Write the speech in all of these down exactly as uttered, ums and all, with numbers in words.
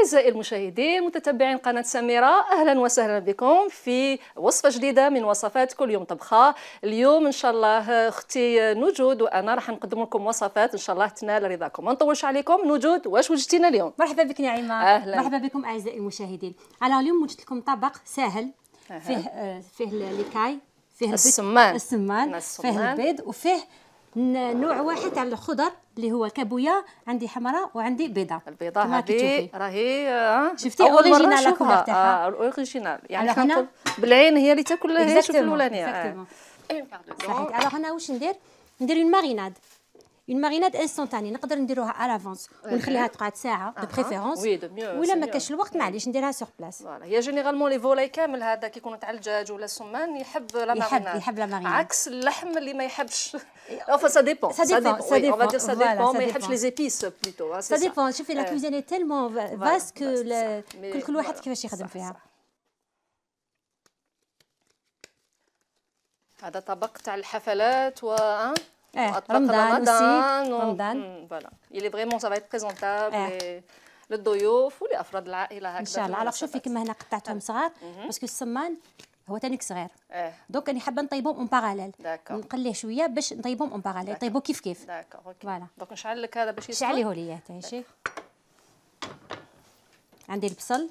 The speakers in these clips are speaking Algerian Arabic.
أعزائي المشاهدين متتبعين قناة سميرة، أهلا وسهلا بكم في وصفة جديدة من وصفات كل يوم طبخة. اليوم إن شاء الله أختي نجود وأنا راح نقدم لكم وصفات إن شاء الله تنال رضاكم. ما نطولش عليكم، نجود واش وجدتينا اليوم؟ مرحبا بك نعيمة. أهلا. مرحبا بكم أعزائي المشاهدين. على اليوم وجدت لكم طبق سهل فيه أه. فيه الليكاي، فيه السمان السمان، فيه البيض، وفيه نوع واحد تاع الخضر اللي هو الكابويا. عندي حمراء وعندي بيضاء. البيضة هذه راهي شفتي اوريجينال الكولور تاعها. اه اوريجينال، يعني حنا نقول بالعين هي اللي تاكل هي. شوف الاولانيه. صحيح. الوغ انا واش ندير؟ ندير اون ماريناد، اون ماريناد انستونتاني، نقدر نديروها على لافونس ونخليها تقعد ساعه دو بريفيرونس، ولا ما كاش الوقت معليش نديرها سور بلاص. فوالا هي جينيرالمون لي فولاي كامل هذا كيكونوا تاع الدجاج ولا السمان يحب لا ماريناد، يحب لا ماريناد، عكس اللحم اللي ما يحبش. enfin ça dépend ça dépend ça dépend on va dire ça dépend ما يحبش les épices plutôt. ça dépend. شوفي لا كوزين تيلمون فاست كل كل واحد كيفاش يخدم فيها. هذا طبق تاع الحفلات و اه رمضان aussi رمضان. فوالا il est vraiment ça va être présentable للضيوف ولافراد العائله هكذا ان شاء الله. alors شوفي كما هنا قطعتهم صغار باسكو السمان هو تانيك صغير. اه دونك راني حابه نطيبهم اون باراليل، داكور نقليه شويه باش نطيبهم اون باراليل، يطيبوا كيف كيف. داكور اوكي. فوالا دونك نشعل لك هذا باش يسخن. شعليه لي تعيشي. عندي البصل،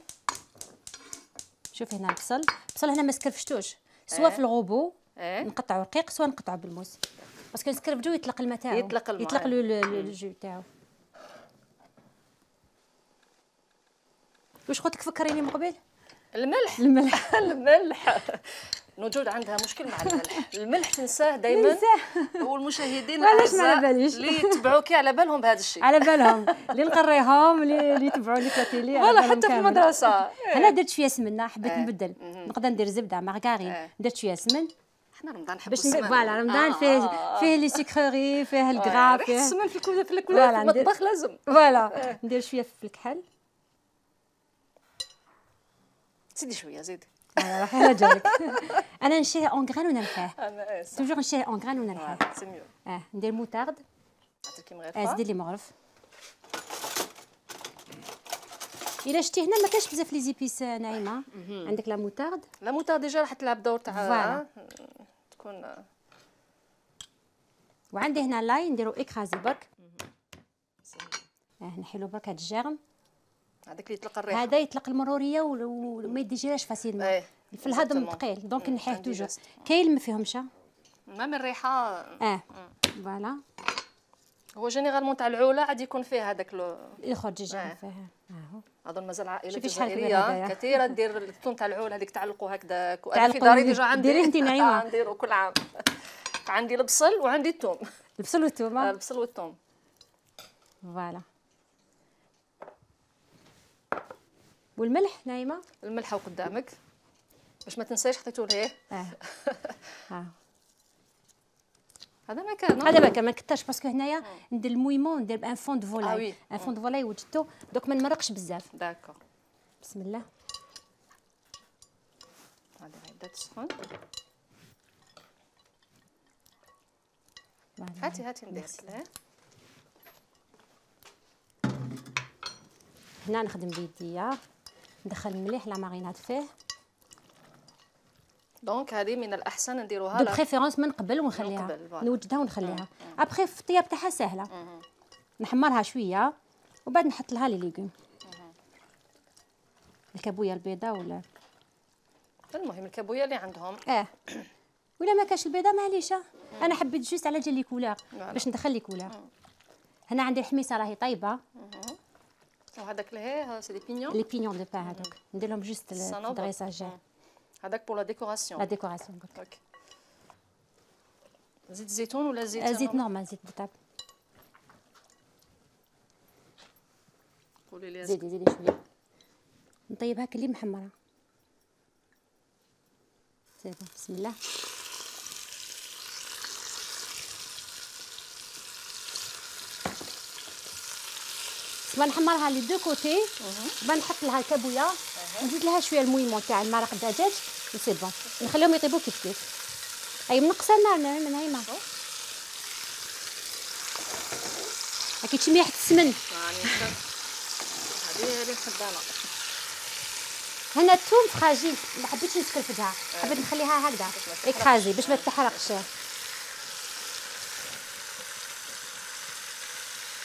شوفي هنا البصل. البصل هنا ما سكرفشتوش، سواء في الغوبو نقطعو رقيق سواء نقطعو بالموس، باسكو نسكرفجو يطلق الماء تاعو، يطلق الماء، يطلق الجو تاعو. واش قلت لك فكريني من قبل؟ الملح. الملح الملح. نوجود عندها مشكل مع الملح، الملح تنساه دائما. والمشاهدين الاعزاء اللي يتبعوكي على بالهم بهذا الشيء، على بالهم اللي نقريهم اللي يتبعوني في التيلي والله حتى في المدرسه. انا درت شويه سمنه، حبيت نبدل، نقدر ندير زبده مارغارين، درت شويه سمن. احنا رمضان نحب باش السمن. فوالا رمضان فيه فيه لي سكري، فيه الكرا، فيه السمن في كل في المطبخ لازم. فوالا ندير شويه في الكحل. زيدي شويه زيدي. راح على جالك. انا نشريه اون غران ونرحيه، انا توجور نشريه اون غران ونرحيه. سي ميو. اه ندير موطارد، عطيكي مغرفه. اه زيدي لي مغرف. الا شتي هنا ما كاش بزاف لي زيبيس نايمه، عندك لا موطارد. لا موطارد ديجا راح تلعب دور تاع تكون. وعندي هنا لاي نديرو اكرازي برك. اه نحيلو برك هاد الجرم، هذاك اللي يطلق الريحه، هذا يطلق المروريه وما يديجيراش فاسيلمون في الهضم ثقيل، دونك نحيه توجور. كاين ما فيهمش ما من الريحه. اه فوالا. هو جينيرالمون تاع العوله عاد يكون فيه هذاك لو يخرج الجرم فيها. اهو اظن مازال عائله جزائريه كثيره دير الثوم تاع العول هذيك تعلقوا هكذاك. انا في داري ديجا عندي. ديري انت نعيمه. نديرو كل عام. عندي البصل وعندي الثوم. البصل والثوم. البصل والثوم فوالا. والملح نايمه. الملح قدامك باش ما تنسايش حطيتو ليه. اه ها هذا ما كان هذا ما كان ما كترش باسكو هنايا ندير المويمون، ندير ان فون دو فولاي. ان فون دو فولاي وجدته دوك ما نمرقش بزاف. داكور. بسم الله. هذه غيبدا تسخن. هاتي هاتي ندير لك. هنا نخدم بيديا، ندخل المليح لا ماريناد فيه. دونك هذه من الاحسن نديروها دو بريفيرونس من قبل ونخليها، نوجدها ونخليها. ابخي في الطياب تاعها ساهله. نحمرها شويه وبعد نحط لها لي ليغوم، الكابويا البيضاء ولا المهم الكابويا اللي عندهم. اه ولا ما كاش البيضاء معليش. انا حبيت جوست على جال لي كولور باش ندخل لي كولور. هنا عندي الحميصه راهي طايبه. وهذاك لهيه سي دي بينيون. لي بينيون دو بان هذوك ندير لهم جوست الدريساج. هذاك بور لا ديكوراسيون. لا ديكوراسيون قلت لك. زيت زيتون ولا زيت؟ زيت نورمال، زيت بوتاب. قولي لي. زيدي زيدي شويه نطيبها كلي محمره. سي بسم الله. باش نحمرها لي دو كوتي، باش نحط لها الكابويا ونزيد لها شويه المويمون تاع المرق الدجاج وسي بون، نخليهم يطيبوا كيف كيف. اي منقصه النار من هايمه هاكي تشمي ريحه السمن. هذه اللي نحب انا. هنا الثوم فراجيل، ما حبيتش نسكرفدها، حبيت نخليها هكذا اكرازي باش ما تحرقش.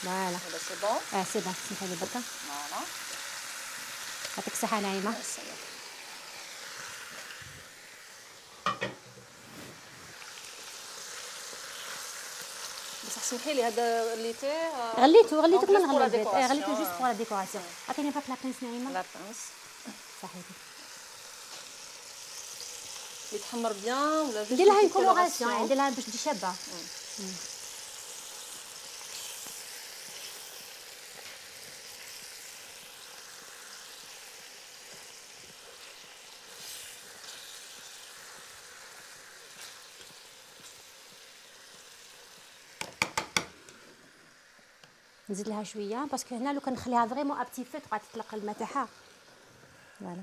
فوالا هذا سي بون. اه سي بون، سمحي لي بركه. فوالا يعطيك الصحه نعيمه. بصح سمحي لي هذا غليتيه. غليته غليته كما نغلي نغلي البيض. اه غليته جوست بور لا ديكوراسيون. عطيني فاك لابرينس نعيمه. لابرينس صحيتي يتحمر بيان ولا ندير لها اون كولوراسيون، ندير لها باش تجي شابه. نزيد لها شويه باسكو هنا لو كان نخليها فريمون ابتي فو تبقى تطلق الماء تاعها. فوالا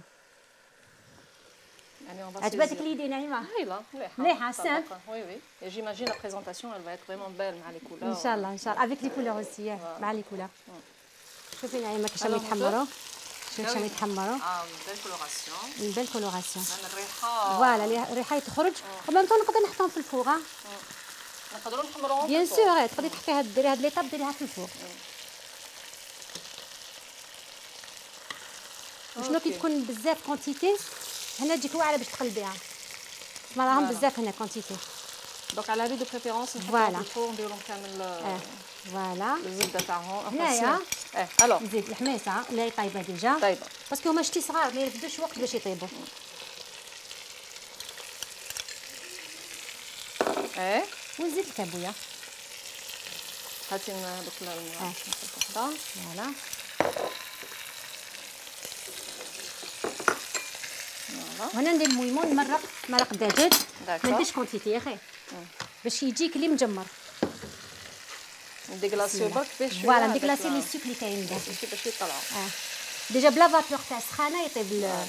عجبتك ليدي نعيمه؟ هايله مليحه مليحه سام. وي وي جيماجين لا بريزونطاسيون elle va être vraiment belle مع لي كولور. ان شاء الله ان شاء الله افيك لي كولور اوسي مع لي كولور. شوفي نعيمه كيفاش راهم يتحمروا، شوفي كيفاش راهم يتحمروا. اه بيل كولوراسيون اون بيل كولوراسيون. الريحه فوالا الريحه تخرج ومام طون نقدر نحطهم في الفوغ. نقدروا نحمروهم بيان سور تقدري تحطيها ديري هاد ليطاب ديريها في الفوغ. شنو كي تكون بزاف كونتيتي هنا تجيك واعره باش تقلبيها، ما راهم بزاف هنا كونتيتي. دونك على لي دو بريفيرونس نحطهم في الفوغ نديرهم كامل. اه فوالا الزبده تاعهم. هنايا اه الوغ نزيد الحميصه اللي هي طايبه ديجا. طيبه باسكو هما شتي صغار ما يرفدوش وقت باش يطيبوا. اه ونزيد الكابويه. هاتي دوك الماء وحده. فوالا وهنا ندير المويمون نمرق مرق دجاج. ما نديرش كونتيتي يا اخي باش يجيك اللي مجمر. نديكلاسيو برك فيه شويه. فوالا نديكلاسي لي سوك اللي كاين دابا باش يطلعوا. اه ديجا بلا فابور تاع السخانه يطيب ال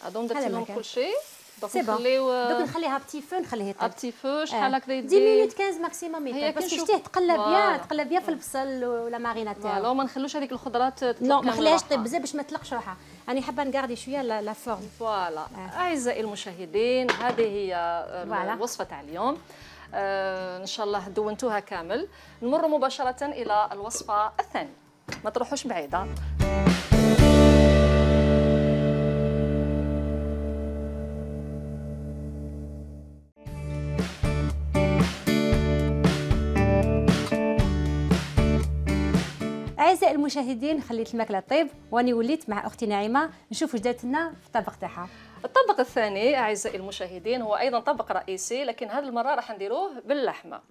هادو درتي لهم كلشي. دونك نخليو دوك نخليها بتي فو نخليه يطيب. بتي فو شحال هكذا يدير؟ عشرة مينوت خمسطاش ماكسيموم يطيب باسكو شتيه تقلى بيان تقلى بيان في البصل ولا مارينا تاعو. فوالا ما نخلوش هذيك الخضرات تطلق. لا ما نخليهاش طيب بزاف باش ما تطلقش روحها، راني حابه نقاردي شويه لا فورم. فوالا اعزائي المشاهدين هذه هي الوصفه تاع اليوم. آه ان شاء الله دونتوها كامل. نمر مباشره الى الوصفه الثانيه، ما تروحوش بعيده. اعزائي المشاهدين خليت الماكله طيب واني وليت مع اختي نعيمه نشوف واش دارت لنا في الطبق تاعها. الطبق الثاني اعزائي المشاهدين هو ايضا طبق رئيسي، لكن هذه المره راح نديروه باللحمه.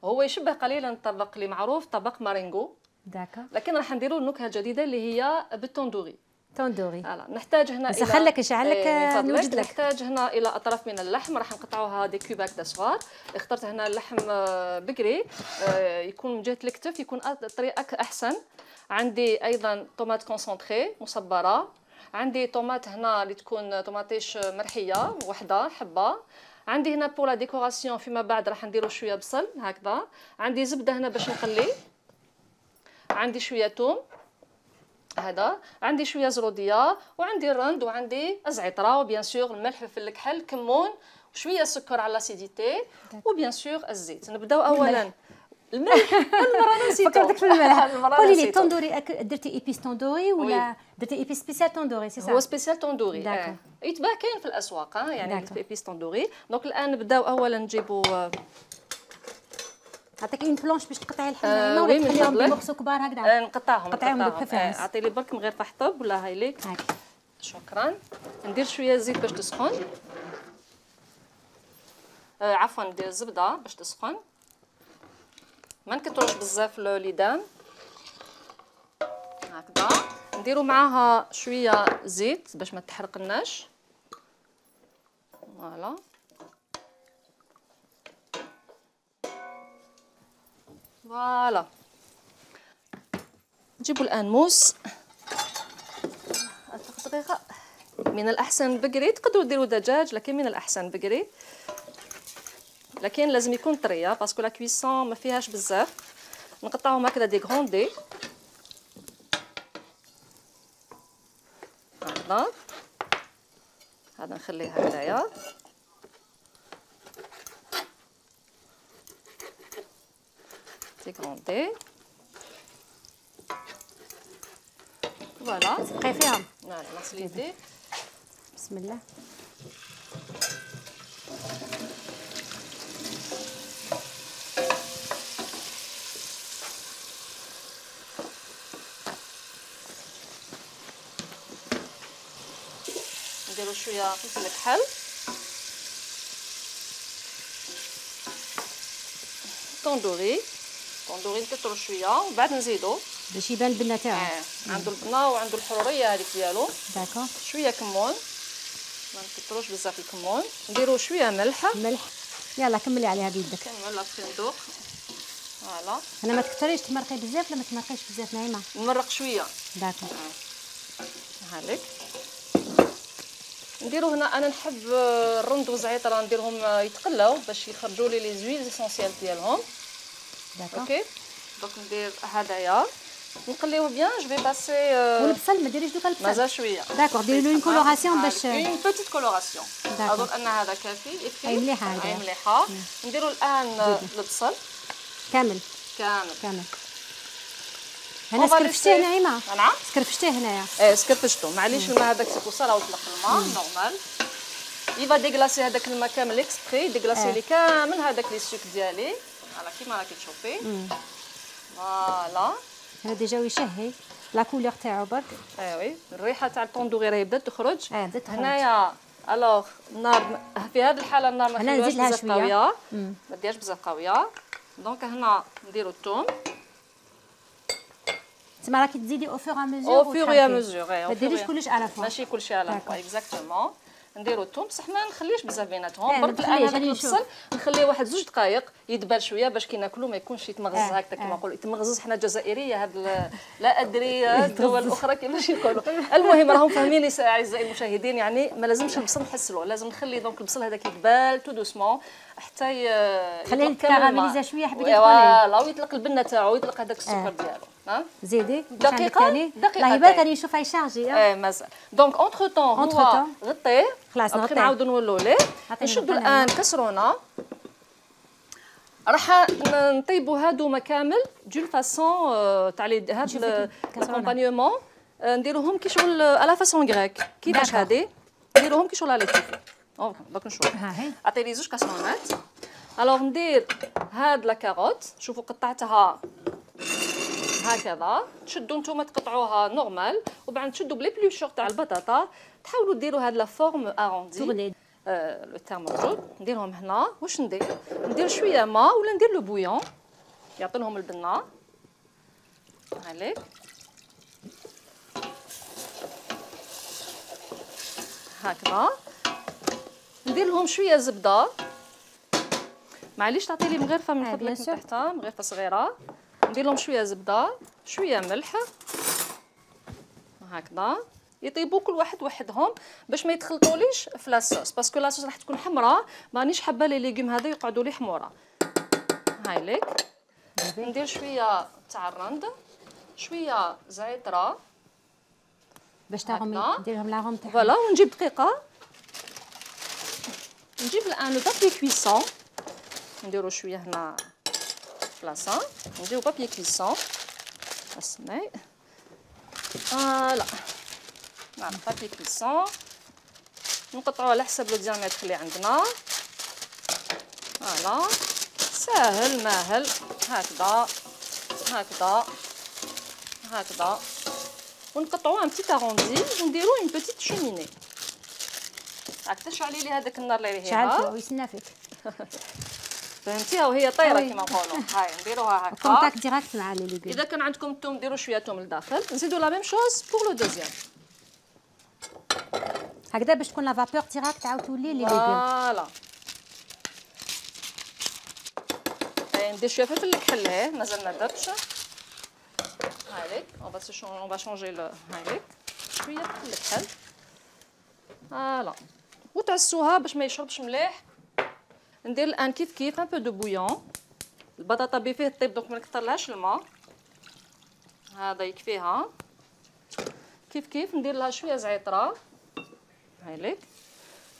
هو يشبه قليلا الطبق اللي معروف طبق مارينغو. داكا. لكن راح نديروا النكهه الجديده اللي هي بالتندوري. تندوري. فوالا نحتاج هنا الى نسخن لك نشعل لك نوجد لك. نحتاج هنا الى اطراف من اللحم راح نقطعوها دي كوباك تاع صغار. اخترت هنا اللحم بقري يكون من جهه الكتف يكون طريقه احسن. عندي ايضا طوماط كونسونطري مصبره، عندي طوماط هنا اللي تكون طوماطيش مرحيه وحده حبه، عندي هنا بولا ديكوراسيون فيما بعد راح نديروا شويه بصل هكذا، عندي زبده هنا باش نقلي، عندي شويه ثوم هذا، عندي شويه زروديه، وعندي الرند وعندي الزعتره وبيان سور الملح والفلفل الكحل كمون وشويه سكر على لاسيديتي وبيان سور الزيت. نبداو اولا الملح. المره نسيتو فكرتك في الملح. قولي لي التندوري درتي ايبيس تندوري ولا درتي ايبيس سبيسيال تندوري؟ سي صح هو سبيسيال تندوري. آه. يتباع كاين في الاسواق يعني ايبيس تندوري. دونك الان نبداو اولا نجيبوا عطيك اون بلونش باش تقطعي اللحم هنا ولا تخليهم بمقصو كبار هكذا؟ آه نقطعهم قطعيهم دو بريفيرونس. اعطي لي برك من غير طحطب ولا هاي ليك. هاك شكرا. ندير شويه زيت باش تسخن. آه عفوا ندير الزبده باش تسخن. ما نكثروش بزاف الليدان هكذا. نديروا معاها شويه زيت باش ما تحرقناش. فوالا فوالا. نجيبوا الان موس دقيقه من الاحسن بقري، تقدروا ديروا دجاج لكن من الاحسن بقري، لكن لازم يكون طريه باسكو لا كويسون ما فيهاش بزاف. نقطعهم هكذا دي غروندي هكذا، هذا نخليه هكذايا. دي غروندي فوالا تبقي فيهم. فوالا نغسل يدي. بسم الله. نديرو شويه فلفل كحل، طوندوري طوندوري نكثرو شويه ومن بعد نزيدو باش يبان البنه تاعو. اه عنده البنه وعنده الحروريه هذيك ديالو. داكور. شويه كمون، ما نكثروش بزاف الكمون. نديرو شويه ملح. ملح. يلا كملي عليها بيدك. كنعمل الفندق فوالا. انا ما تكثريش تمرقي بزاف ولا ما تمرقيش بزاف نعيمه؟ نمرق شويه. داكور. هالك نديرو هنا، انا نحب الرند والزعتر نديرهم يتقلاو باش يخرجوا لي لي زويل اسونسيال ديالهم. داكور. اوكي دونك ندير هدايا نقليوه بيان. جو في باسي والبصل ما ديريش دوكا البصل مازال شويه. داكور ديري له اون كولوراسيون باش اون بوتيت كولوراسيون. داكور. اظن ان هذا كافي. اي مليحه هذه. اي مليحه. نديرو الان البصل كامل كامل كامل. انا سكرفشتيه نعيمه. نعم سكرفشتيه هنايا. ايه سكرفشتو معليش الماء هذاك سي بوصا راهو طلق الماء نورمال. يبا ديغلاسي هذاك الماء كامل اكسبري، ديغلاسي لي كامل هذاك لي سوك ديالي فوالا كيما راكي تشوفي. فوالا هذا ديجا يشهي لا كولور تاعو برك. ايوي الريحه تاع الطوندوري راهي بدات تخرج. اه بدات تخرج. هنايا الوغ النار في هذه الحاله النار ما هنا نزيد لها بزاف شويه قويه، ما ديرهاش بزاف قويه. دونك هنا نديرو الثوم. تما راكي تزيدي او فور ا ميزور. او فور يا ميزور. ما ديريش كلش على فوا. ماشي كلشي على فوا اكزاكتومون. نديرو الثوم بصح ما نخليش بزاف بيناتهم. اه برك الان هذاك البصل نخليه واحد زوج دقائق يدبل شويه باش كي ناكلو ما يكونش يتمغز اه هكذا كيما نقولوا يتمغزز. حنا جزائريه هاد لا ادري الدول الاخرى كيفاش يقولوا. المهم راهم فاهميني اعزائي المشاهدين، يعني ما لازمش البصل نحسلوه، لازم نخلي دونك البصل هذاك يدبل تو دوسمون حتى خليه يتكراميليزا شويه حبيبي تقولي. فوالا ويطلق البنه تاعو ويطلق هذاك السكر ديالو. ها زيدي دقيقه دقيقه. لا بالك راني نشوف يشارجي. اه مازال. دونك اونتر طون هو غطيه خلاص نغطيه نعاودو نولوا ليه. نشدوا الان كسرونه راح نطيبوا هادو كامل دون فاسون تاع لي هاد الكومبانيومون نديروهم كي شغل على فاسون غريك. كيفاش هادي نديروهم كي شغل على كيفي. دوك نشوف. ها هي عطي لي زوج كاسرونات. الوغ ندير هاد لا كاروت. شوفوا قطعتها هكذا. تشدوا نتوما تقطعوها نورمال وبعد تشدوا بلي بلوشور تاع البطاطا تحاولوا ديروا هاد لا فورم اروندي. آه لو تيرم موجود. نديرهم هنا. واش ندير؟ ندير شويه ماء ولا ندير لو بويون يعطي لهم البنه. هاليك هكذا. ندير لهم شويه زبده. معليش تعطي لي مغرفه من فضلك من تحتها، مغرفه صغيره. ندير لهم شويه زبده شويه ملح هكذا. يطيبوا كل واحد وحدهم باش ما يتخلطوليش في لاصوص باسكو لاصوص راح تكون حمراء مانيش حابه لي ليغوم هذا يقعدوا لي حموره. هاي ليك ندير شويه تاع الرند شويه زعتره باش تاغمي نديرهم لاغوم تاعهم. فوالا ونجيب دقيقه. نجيب الان لو بابي كويسون نديرو شويه هنا بلاصه. نديرو بابي كويسون اسمعي فوالا. نعم بابي كويسون نقطعوه على حسب لو ديامتر اللي عندنا. فوالا ساهل ماهل هكذا هكذا هكذا ونقطعوه ان بتيت اروندي ونديرو اون بتيت شوميني. راك تشعلي لي هذاك النار اللي هي شعلته ويسنى فيك. فهمتيها وهي طايره كيما نقولوا. هاي نديروها هكا كونتاكت ديريكت مع لي ليغوم. اذا كان عندكم الثوم ديروا شويه ثوم لداخل. نزيدوا لا ميم شوز بور لو دوزيام هكذا باش تكون لا فابور ديريكت تعاود تولي لي ليغوم. فوالا ندير شويه فلفل الكحل هيه مازال ما درتش. هايليك اون فا اون فا شونجي لو هايليك شويه فلفل الكحل فوالا وتعسوها باش ما يشربش مليح. ندير الان كيف كيف ان بو دو بويون. البطاطا بفيه طيب دونك ما نكثرلهاش الماء، هذا يكفيها. كيف كيف ندير لها شويه زعتره، هايليك.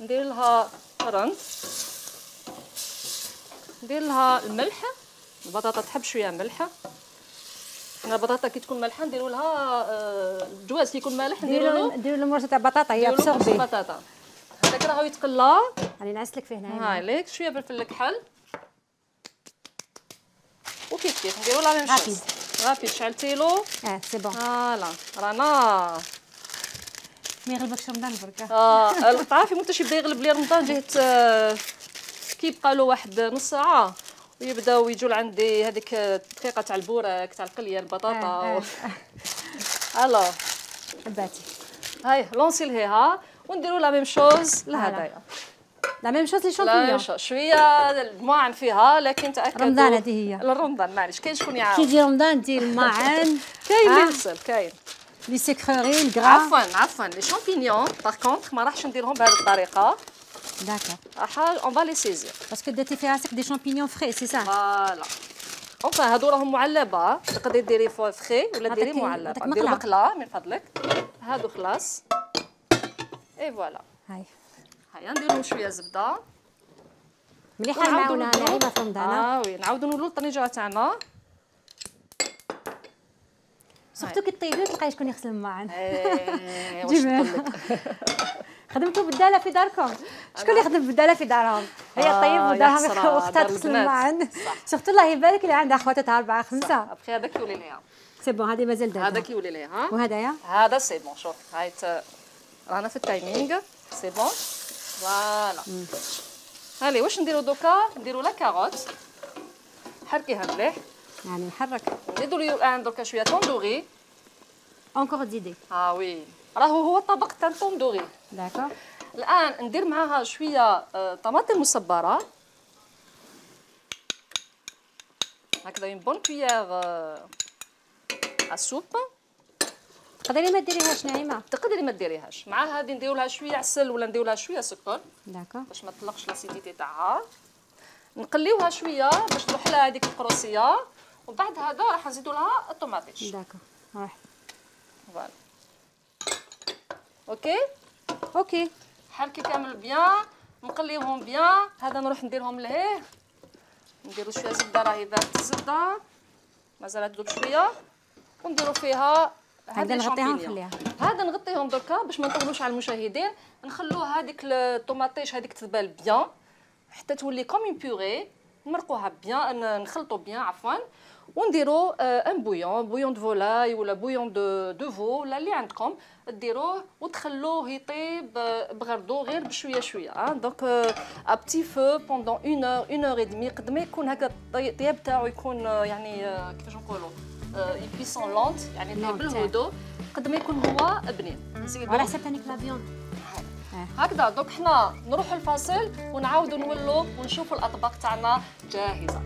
ندير لها قرنت، ندير لها الملح. البطاطا تحب شويه ملح. حنا البطاطا كي تكون مالحه نديروا لها آه الجواز كي يكون مالح نديروا له نديروا له مرشه تاع بطاطا هي ابسوربي البطاطا. هذاك راهو يتقلى. راني نعس لك فيه هنا. هايليك شويه فلفل الكحل وكيف كيف نديروا لا ميم شوز. رابيد شعلتيلو. اه سي بون. فوالا رانا ما يغلبكش رمضان بركه. اه تعرفي متى يبدا يغلب لي رمضان جهه آه كي يبقى له واحد نص ساعه ويبداو يجوا لعندي هذيك الدقيقه تاع البوراك تاع القليه البطاطا. آه آه. الو حباتي هاي لونسي لهيها ونديروا لا ميم شوز لهدايا. لا ميم شوز لي لا شامبينيون. شويه الماعن فيها لكن تاكدوا رمضان هذه هي. رمضان معليش كاين شكون يعاون. كي يجي رمضان دير الماعن. كاين اللي آه. يغسل كاين. لي سكروري الكرا. عفوا عفوا لي شامبينيون باغ كونطخ ما راحش نديرهم بهذه الطريقه. داكور. راح اون با لي سيزير باسكو درتي في راسك دي شامبينيون فري سي سا. فوالا. اونفا هادو راهم معلبه تقدري ديري فري ولا ديري معلبه. ديري مقله من فضلك. هادو خلاص. اي فوالا. هاي هيا نديرو شويه زبده مليحه المعونه ناعمه في رمضان. اه وي نعاودو نولو الطنجره تاعنا. سورتو كي طيبي تلقاي شكون يغسل الماعن. ايه واش نقول لك. خدمتوا بالداله في داركم. شكون اللي يخدم بالداله في دارهم؟ هي الطيب ودارهم واختها تغسل الماعن. سورتو الله يبارك اللي عندها خواتاتها اربعه خمسه. ابخي هذاك يولي ليها. سي بون هذه مازال دارها. هذاك يولي ليها. وهذايا؟ هذا سي بون شوف هاي رانا في التايمينغ سي بون. فوالا. هالي واش نديرو دوكا؟ نديرو لا كاروت. حركيها مليح. يعني نحرك. نزيدو لي الان دركا شويه طوندوري. اونكور زيدي. اه وي راهو هو الطبق تاع الطوندوري. داكور. الان ندير معاها شويه طماطم مصبره هكذا اون بون كويير السوب. تقدري ما ديريهاش ناعمه. تقدري ما ديريهاش. مع هذه نديرو لها شويه عسل ولا نديرو لها شويه سكر. داكور. باش ما تطلقش لاسيديتي تاعها. نقليوها شويه باش تروح لها هذيك القروسيه وبعد هذا راح نزيدو لها الطوماطيش. داكور روح. فوالا اوكي اوكي حركي كامل بيان نقليوهم بيان. هذا نروح نديرهم لهيه. نديرو شويه زبده راهي ذات الزبده مازال تذوب شويه ونديرو فيها هذا نغطيها ونخليها. هذا نغطيهم دركا باش ما نطولوش على المشاهدين. نخلو هذيك الطوماطيش هذيك تذبل بيان حتى تولي كوم اون بيوري. نمرقوها بيان نخلطو بيان عفوا ونديرو ان بويون بويون دو فولاي ولا بويون دو دو فو ولا اللي عندكم ديروه وتخلوه يطيب بغردو غير بشويه شويه. اه دونك ا بتي فو بوندون اون اور اون اور اي دمي قد ما يكون هكا الطياب تاعو يكون يعني كيفاش نقولوا يبيسون لونت يعني طيب بالهدوء قد ما يكون هو بنين. على حسب تانيك لا فيوند هكذا. دونك حنا نروحوا الفاصل ونعاودوا نولوا ونشوفوا الاطباق تاعنا جاهزه.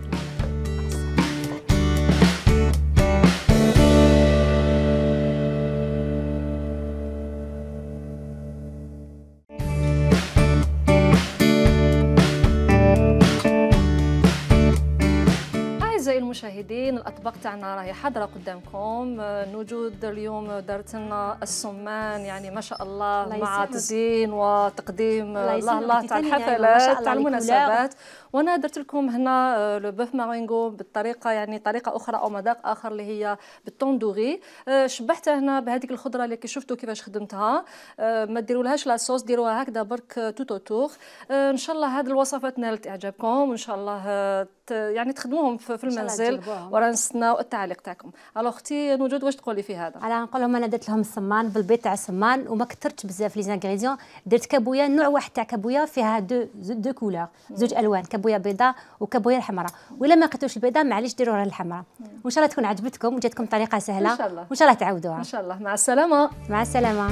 المشاهدين الاطباق تاعنا راهي حاضره قدامكم. نوجود اليوم دارت لنا السمان يعني ما شاء الله, الله مع تزيين وتقديم الله الله تاع الحفلات تاع المناسبات. وانا درت لكم هنا لو بوف مارينغو بالطريقه يعني طريقه اخرى او مذاق اخر اللي هي بالطوندوري. شبحتها هنا بهذيك الخضره اللي شفتوا كيفاش خدمتها. ما ديرولهاش لا صوص ديروها هكذا برك توتو تور. ان شاء الله هذه الوصفات نالت اعجابكم وان شاء الله يعني تخدموهم في المنزل ورا نستناو التعليق تاعكم. الو اختي نوجود واش تقولي في هذا؟ على نقول لهم انا درت لهم السمان بالبيض تاع السمان وما كثرتش بزاف لي زانغريديون. درت كابويا نوع واحد تاع كابويا فيها دو دو كولور زوج الوان كابويا بيضاء وكابويا الحمراء. ولا ما لقيتوش البيضاء معليش ديروها الحمراء. وان شاء الله تكون عجبتكم وجاتكم طريقه سهله ان شاء الله وان شاء الله تعودوها ان شاء الله. مع السلامه. مع السلامه.